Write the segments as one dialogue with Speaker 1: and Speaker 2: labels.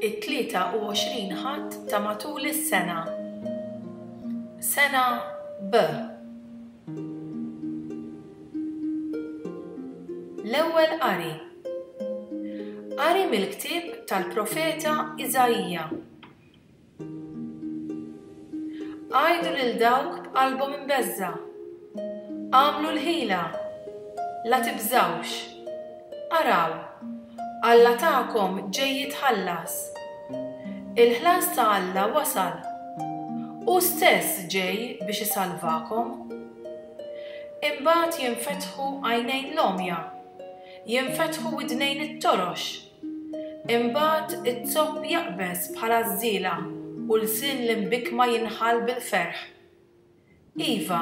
Speaker 1: It-23 Ħadd ta' matul is-sena. Sena B. L-Ewwel Qari. Qari mill-ktieb tal-profeta Iżaija. Għidu lil dawk b'qalbhom imbeżżgħa, Agħmlu l-ħila! La tibżgħux! Araw, Alla tagħkom ġej jitħallas! Il-ħlas ta' Alla wasal! Hu stess ġej biex isalvakom. Imbagħad jinfetħu għajnejn l-għomja, jinfetħu widnejn it-torox. Imbagħad iz-zopp jaqbeż bħal għażżiela u lsien l-imbikkma jinħall bil-ferħ. Iva,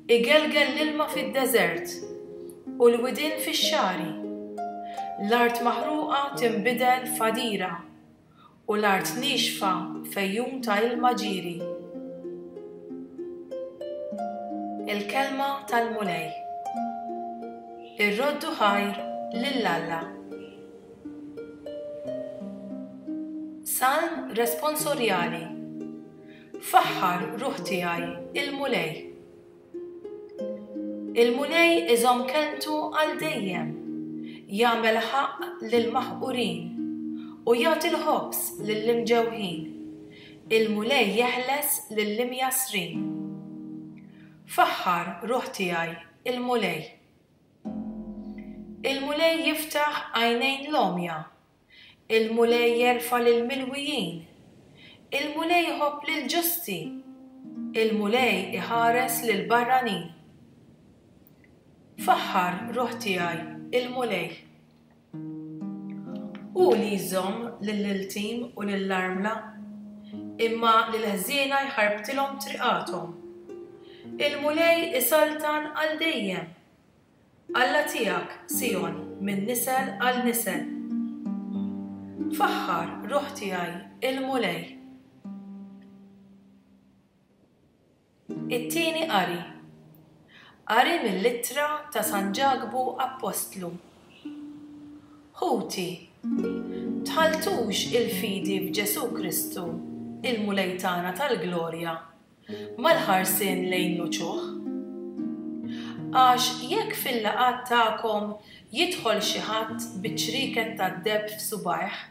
Speaker 1: igelgel l-ilma fid-deżert u l-widien fix-xagħri. L-art maħruqa tinbidel f'għadira u l-art niexfa f'għejun ta' ilma ġieri. Il-Kelma tal-Mulej. Irroddu ħajr lil Alla. Salm Responsorjali Faħħar, ruħ tiegħi, il-Mulej. Il-Mulej iżomm kelmtu għal dejjem, jagħmel ħaqq lill-maħqurin, u jagħti l-ħobż lill-imġewħin. Il-Mulej jeħles lill-imjassrin. Faħħar, ruħ tiegħi, il-Mulej. Il-Mulej jiftaħ għajnejn l-għomja, Il-Mulej jerfa' lill-milwijin. Il-Mulej iħobb lill-ġusti. Il-Mulej iħares lill-barranin. Faħħar, ruħ tiegħi, il-Mulej. Hu li jżomm lill-iltim u lill-armla, imma lill-ħżiena jħarbtilhom triqathom. Il-Mulej isaltan għal dejjem. Alla tiegħek, Sijon, minn nisel għal nisel. Faħħar, ruħ tiegħi, il-Mulej. It-tieni qari. Qari mill-Ittra ta' San Ġakbu Appostlu. Ħuti, tħalltux il-fidi f'Ġesù Kristu, il-Mulej tagħna tal-glorja, mal-ħarsien lejn l-uċuħ. Għax jekk fil-laqgħat tagħkom jidħol xi ħadd bi ċrieket tad-deheb f'subgħajh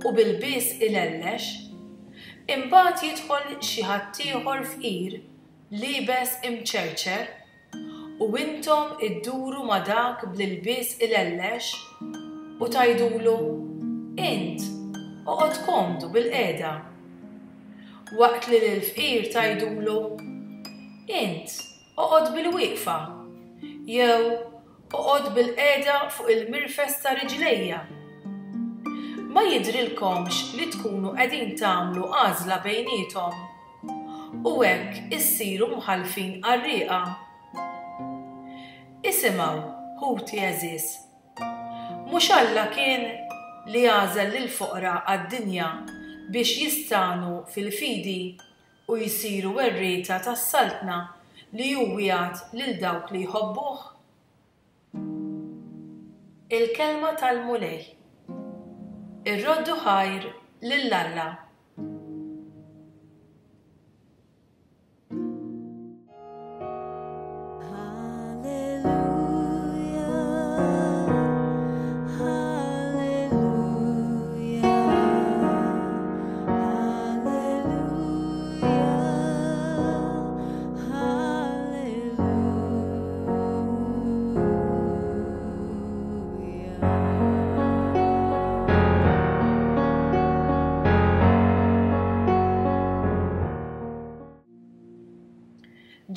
Speaker 1: u bi lbies ilellex, imbagħad jidħol xi ħaddieħor fqir liebes imċerċer, U intom idduru ma' dak bl-ilbies ilellex u tgħidulu, 'Int, oqgħod komdu bilqiegħda. Waqt li lill-fqir tgħidulu, 'Int, oqgħod bilwieqfa, jew 'Oqgħod bilqiegħda fuq il-mirfes ta' riġlejja. Ma jidhrilkomx li tkunu qegħdin tagħmlu għażla bejniethom? U hekk issiru mħallfin qarrieqa. Isimgħu, ħuti għeżież. Mhux Alla kien li għażel lill-foqra għad-dinja biex jistagħnu fil-fidi u jsiru werrieta tas-Saltna li hu wiegħed lil dawk li jħobbuh? Il-Kelma tal-Mulej. Irroddu ħajr lil Alla.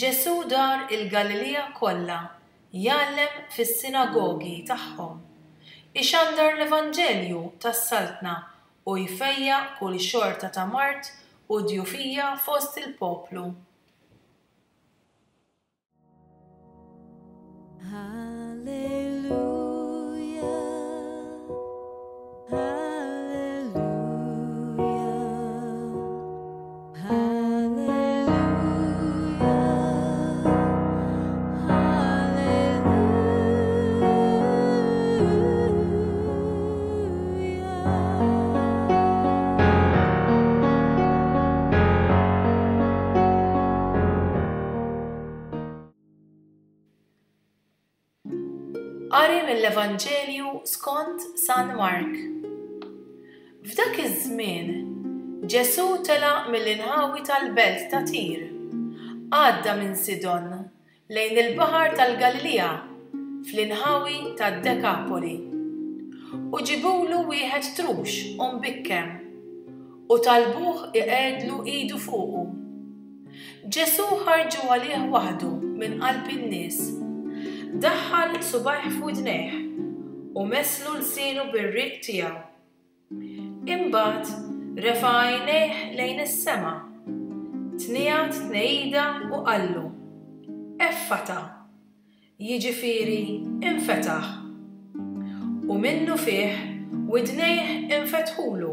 Speaker 1: Ġesù dar il-Galilija kollha jgħallem fis-sinagogi tagħhom, ixandar l-evanġelju tas-saltna u jfejjaq kull xorta ta' mard u djufija fost il-poplu. Qari mill-Evanġelju skont San Mark. F'dak iż-żmien, Ġesù telaq mill-inħawi tal-belt ta' Tir, għadda minn Sidon lejn il-Baħar tal-Galilija, fl-inħawi tad-Dekapoli. U ġibulu wieħed trux u mbikkem, u talbuh iqegħedlu idu fuqu. Ġesù ħarġu għalih waħdu minn qalb in-nies, daħħal subgħajh f'widnejh, u messlu lsienu bir-riq tiegħu. Imbagħad refa' għajnejh lejn is-sema, tniegħed tnehida u qallu, Effata! Jiġifieri, infetaħ. U minnufih widnejh infetħulu,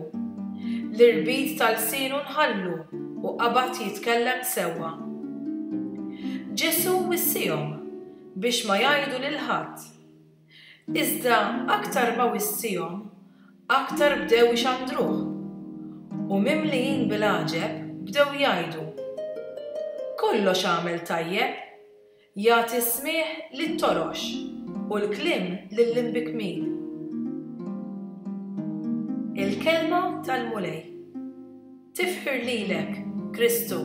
Speaker 1: l-irbit ta' lsienu nħallu u qabad jitkellem sewwa. Ġesù wissihom biex ma jgħidu lil ħadd. Iżda aktar ma wissihom, aktar bdew ixandruh, u mimlijin bil-għaġeb bdew jgħidu, Kollox għamel tajjeb, jagħti s-smigħ lit-torox u l-kliem lill-imbikkmin. Il-Kelma tal-Mulej. Tifħir lilek, Kristu.